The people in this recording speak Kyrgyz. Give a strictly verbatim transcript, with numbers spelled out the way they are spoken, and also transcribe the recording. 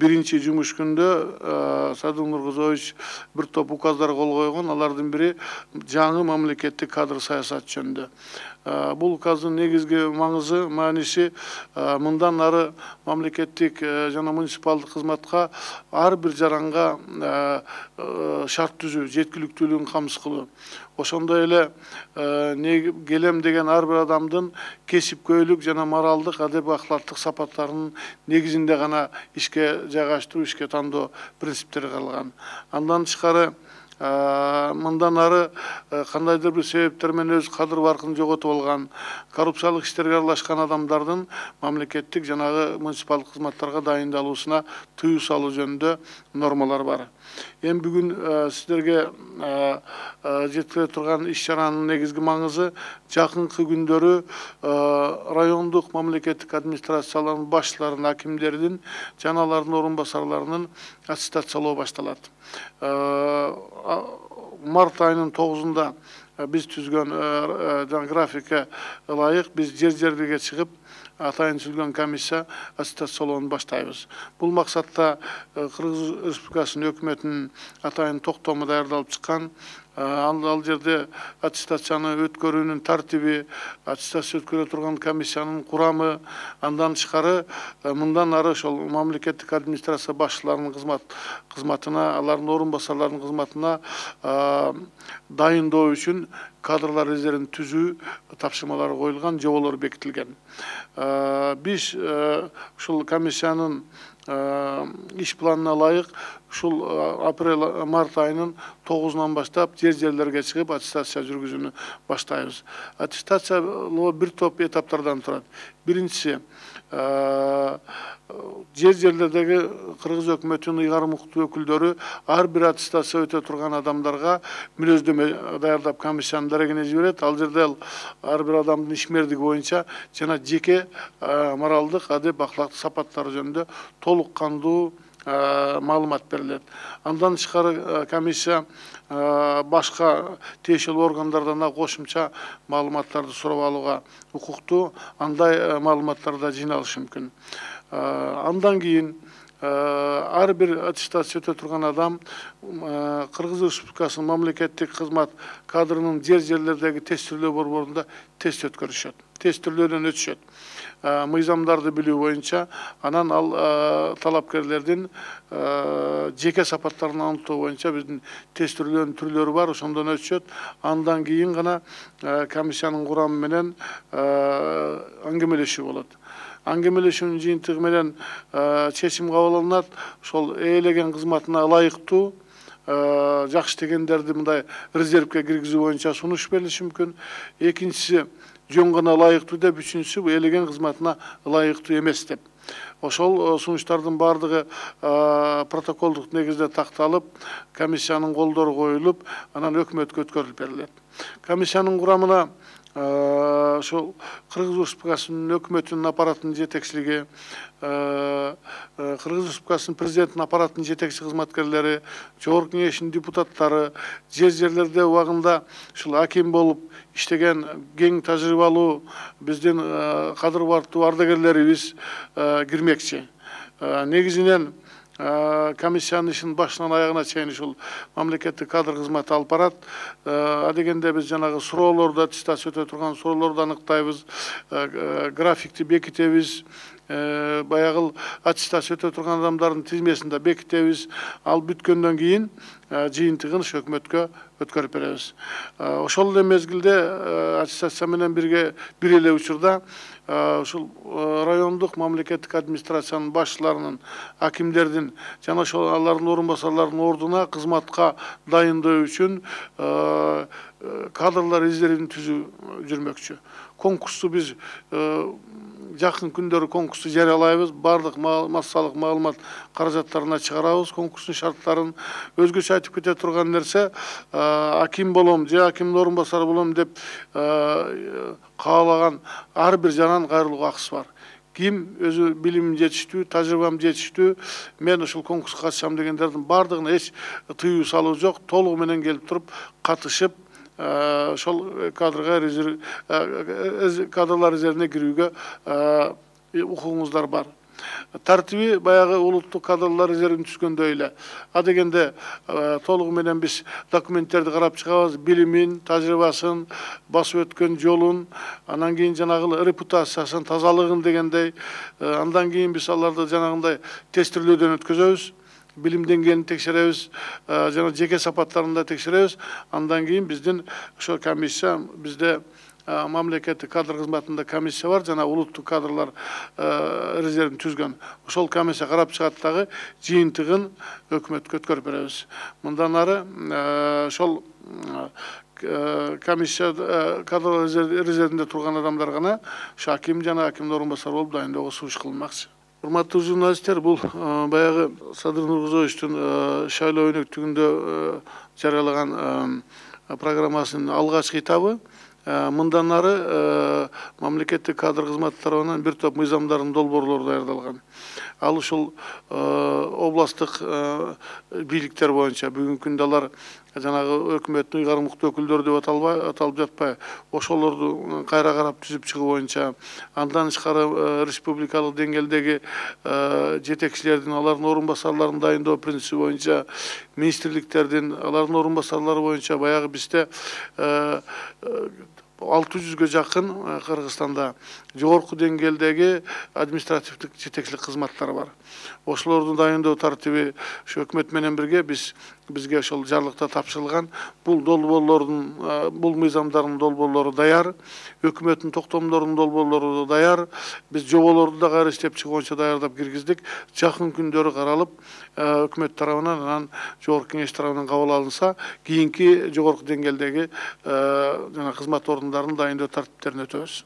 Биринчи жумуш күндө Садыр Нуркузович бир топ указдар кол койгон. Алардын бири жаңы мамлекеттик кадр саясаты жөнүндө. Бул указдын негизги маңызы, мааниси мындан ары мамлекеттик жана муниципалдык кызматка ар бир жаранга шарт түзүү, жеткиликтүүлүгүн камсыз кылуу. Ошондой эле келем деген ар бир адамдын кесипкөйлүк жана моралдык, адеп аклаттык сапаттарынын негизинде гана ишке жайгаштыруу, ишке тандоо принциптери каралган. Андан тышкары мындан ары кандайдыр бир себептер менен өз кадыр баркын жоготуп алган, коррупциялык иштерге аралашкан адамдардын мамлекеттик жанагы муниципалдык кызматтарга дайындалуусуна тыюу салуу жөнүндө нормалар бар. Эми бүгүн сиздерге жеткире турган иш чаранын негизги маңызы жакынкы күндөрү райондук мамлекеттик администрациялардын башчыларынын, акимдердин жана алардын орун басарларынын аттестациялоо башталат. Март айынын тогузунда биз түзгөн графикке ылайык биз жер жерлерге чыгып атайын түзүлгөн комиссия аттестациялоону баштайбыз. Бул максатта Кыргыз Республикасынын өкмөтүнүн атайын токтому даярдалып чыккан. Ал жерде аттестацияны өткөрүүнүн тартиби, аттестация өткөрө турган комиссиянын курамы, андан тышкары мындан ары ошол мамлекеттик администрация башчыларынын кызматына, алардын орун басарларынын кызматына дайындоо үчүн кадрлар резервин түзүү тапшырмалары коюлган, жоболор бекитилген. Биз ушул комиссиянын иш планына ылайык ушул апрель-март айынын тогузунан баштап жер жерлерге чыгып аттестация жүргүзүүнү баштайбыз. Аттестациялоо бир топ этаптардан турат. Биринчиси жер жерлердеги Кыргыз өкмөтүнүн ыйгарым укуктуу өкүлдөрү ар бир аттестация өтө турган адамдарга мүнөздөмө даярдап комиссиянын дарегине жиберет. Ал жерде ар бир адамдын ишмердиги боюнча жана жеке моралдык, адеп аклактык сапаттары жөнүндө толук кандуу маалымат берилет. Андан тышкары комиссия башка тиешелүү органдардан да кошумча маалыматтарды сурап алууга укуктуу, андай маалыматтарды да жыйналышы мүмкүн. Андан кийин ар бир аттестация өтө турган адам Кыргыз Республикасынын мамлекеттик кызмат кадрынын жер жерлердеги тестирлөө борборунда тест өткөрүшөт. Тестирлөөдөн өтүшөт. Мыйзамдарды билүү боюнча, анан ал талапкерлердин жеке сапаттарын аныктоо боюнча биздин тестирлөөнүн түрлөрү бар, ошондон өтүшөт. Андан кийин гана комиссиянын курамы менен аңгемелешүү болот. Аңгемелешүүнүн жыйынтыгы менен чечим кабыл алынат. Ошол ээлеген кызматына ылайыктуу жакшы дегендерди мындай резервге киргизүү боюнча сунуш берилиши мүмкүн. Экинчиси жөн гана ылайыктуу деп, үчүнчүсү ээлеген кызматына ылайыктуу эмес деп. Ошол сунуштардын бардыгы протоколдук негизде такталып, комиссиянын колдору коюлуп, анан өкмөткө өткөрүлүп берилет. Комиссиянын курамына ошол Кыргыз Республикасынын өкмөтүнүн аппаратынын жетекчилиги, Кыргыз Республикасынын президентинин аппаратынын жетекчи кызматкерлери, Жогорку Кеңештин депутаттары, жер жерлерде убагында ушул аким болуп иштеген кең тажрыйбалуу биздин кадыр бартуу ардагерлерибиз кирмекчи. Негизинен комиссиянын ишин башынан аягына чейин ушул мамлекеттик кадр кызматы алып барат. Адегенде биз жанагы суроолорду, аттестация өтө турган суроолорду аныктайбыз, графикти бекитебиз, баягыл аттестация өтө турган адамдардын тизмесин да бекитебиз. Ал бүткөндөн кийин жыйынтыгын ушу өкмөткө өткөрүп беребиз. Ошол эле мезгилде аттестация менен бирге бир эле учурда ушул райондук мамлекеттик администрациянын башчыларынын, акимдердин жана ошол алардын орун басарларынын ордуна кызматка дайындоо үчүн кадрлар резервин түзүү жүрмөкчү. Конкурсту биз жакын күндөрү конкурсту жарыялайбыз. Бардык массалык маалымат каражаттарына чыгарабыз конкурстун шарттарын. Өзгөчө айтып кете турган нерсе, аким болом же акимдин орун басары болом деп каалаган ар бир жаран кайрылууга акысы бар. Ким өзү билимим жетиштүү, тажрыйбам жетиштүү, мен ушул конкурска катышам дегендердин бардыгына эч тыюу салуу жок. Толугу менен келип туруп катышып, ошол кадрга резерв кадрлар резервине кирүүгө укугуңуздар бар. Тартиби баягы улуттук кадрлар резервин түзгөндөй эле. А дегенде толугу менен биз документтерди карап чыгабыз, билимин, тажрыйбасын, басып өткөн жолун, анан кийин жанагы репутациясын, тазалыгын дегендей, андан кийин биз аларды жанагындай тестирлөөдөн өткөзөбүз. Билим деңгээлин текшеребиз, жана жеке сапаттарын да текшеребиз. Андан кийин биздин ошо комиссия, бизде мамлекеттик кадр кызматында комиссия бар, жана улуттук кадрлар резервин түзгөн. Ошол комиссия карап чыгат дагы жыйынтыгын өкмөткө өткөрүп беребиз. Мындан ары ошол комиссия кадр резервинде турган адамдар гана аким жана акимдин орун басары болуп дайындоого сунуш кылынмакчы. Урматтуу журналисттер, бул баягы Садыр Нургузоевичтин шайлоо өнөктүгүндө жарыялаган программасынын алгачкы этабы. Мындан ары мамлекеттик кадр кызматы тарабынан бир топ мыйзамдардын долбоорлору даярдалган. Ал ушул областтык бийликтер боюнча бүгүнкү күндө алар жанагы өкмөттүн уйгармыктуу өкүлдөрү деп аталбай аталып жатпай, ошолорду кайра карап түзүп чыгуу боюнча, андан тышкары республикалык деңгээлдеги жетекчилердин, алардын орун басарларын дайындоо принциби боюнча, министрликтердин, алардын орун басарлары боюнча баягы бизде алты жүзгө жакын Кыргызстанда жогорку деңгээлдеги административдик жетекчилик кызматтары бар. Ошолорду дайындоо тартиби ушу өкмөт менен бирге биз бизге ошол жарлыкта тапшырылган. Бул долбоорлордун, бул мыйзамдардын долбоорлору даяр, өкмөттүн токтомдорунун долбоорлору даяр. Биз жоболорду да кайра иштеп чыгуу боюнча даярдап киргиздик. Жакын күндөрү каралып, өкмөт тарабынан, анан жогорку кеңеш тарабынан кабыл алынса, кийинки жогорку деңгээлдеги жана кызмат орун дайындоо тартиптерине өтөбүз.